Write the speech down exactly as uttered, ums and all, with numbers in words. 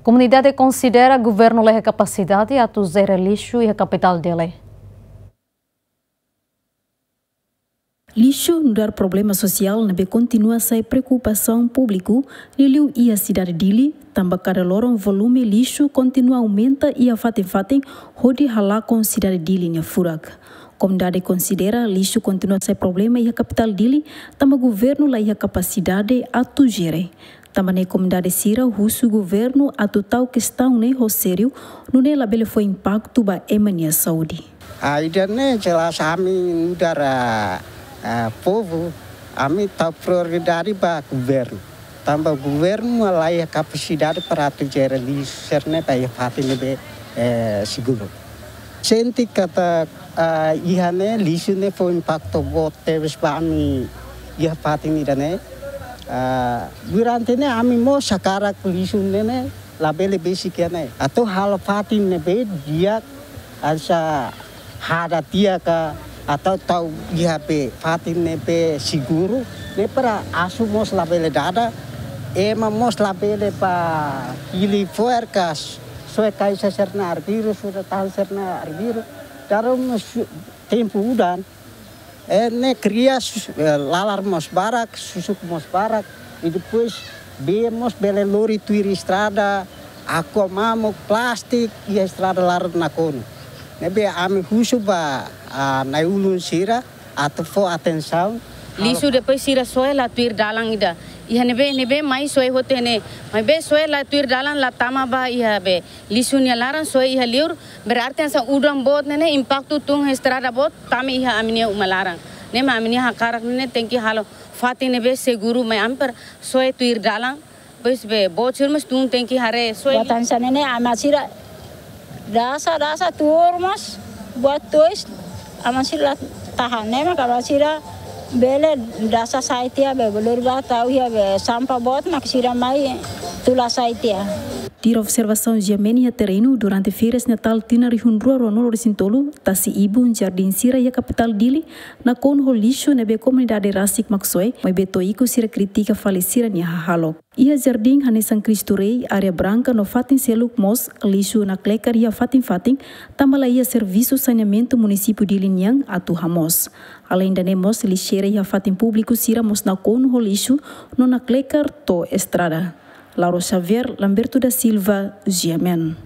Komunidade konsidera governu la iha kapasidade atu jere lixu iha kapitál Dili. Lixu nu'udar problema sosiál ne'ebé kontinua sai preokupasaun públiku, liuliu iha sidade Dili, tanba kada loron volume lixu kontinua aumenta iha fatin-fatin hodi halakon sidade Dili nia furak. Komunidade konsidera lixu kontinua sai problema iha kapitál Dili, tanba governu la iha kapasidade atu jere. Tanba ne'e komunidade sira husu governu atu tau kestaun ne'e ho sériu, nune'e labele fó impaktu ba ema nia saúde. Ah, ida-ne'e jelas ami nu'udar, ah, ah, povu, ami tau prioridade ba governu. Tanba governu la iha kapasidade para atu jere lixu sira-ne'e ba iha fatin ne'ebé, eh, seguru. Sente katak, ah, iha ne'e lixu ne'e fó impaktu boot tebes ba ami iha fatin ida-ne'e. Ah, durante ne'e ami mós hakarak lixu ne'e ne'e labele besik iha ne'e. Atu halo fatin ne'ebé di'ak, hanesan hada tiha ka, atu tau iha be fatin ne'ebé seguru, ne'e para asu mós labele dada, ema mós labele ba hili fo'er ka, soe kaixa sira-nia arbiru, soe tan sira-nia arbiru, dala ruma su-, tempu udan, eh, ne'e kria sus-, eh, lalar mós barak, susuk mós barak, i depois bee mós bele lori tuir estrada, aqua mamuk, plástiku, iha estrada laran nakonu. Ne'ebé ami husu ba, ah, na'i-ulun sira, atu fó atensaun. Lixu depois sira soe la tuir dalan ida. Iha ne'ebé, ne'ebé mai soe hotu ne'e. Maibé soe la tuir dalan la tama ba iha be lixu nia laran soe iha liur. Berarti hanesan udan boot ne'e ne'e impaktu tun estrada boot tama iha ami-nia uma laran. Ne'e mak ami-nia hakarak ne'e ne'e tenke halo fatin ne'ebé seguru mai amper soe tuir dalan. Pois be, boot sira mós tun tenke haree soe. Buat hanesan ne'e ne'e, ama sira dasa, dasa tuur mós, buat tois, ama sira la tahan, ne'e mak ama sira bele dasa sai tiha be, belur ba tau iha be, sampah boot mak sira mai tula sai tiha. Tuir observasaun Giamen iha terrenu durante férias Natál tinan rihun rua rua nulu resin tolu, tasi ibun jardín sira iha kapitál Dili nakonu ho lixu ne'ebé komunidade rasik mak soe, maibé to'o ikus sira kritika fali sira-nia hahalok. Iha jardín hanesan Cristo Rei, Areia Branca no fatin seluk mós lixu naklekar iha fatin-fatin, tanba la iha servisu saneamentu munisípiu Dili nian atu hamoos. Aleinde ne'e mós lixeira iha fatin públiku sira mós nakonu ho lixu no naklekar to'o estrada. Laura Xavier, Lamberto da Silva, Giamen.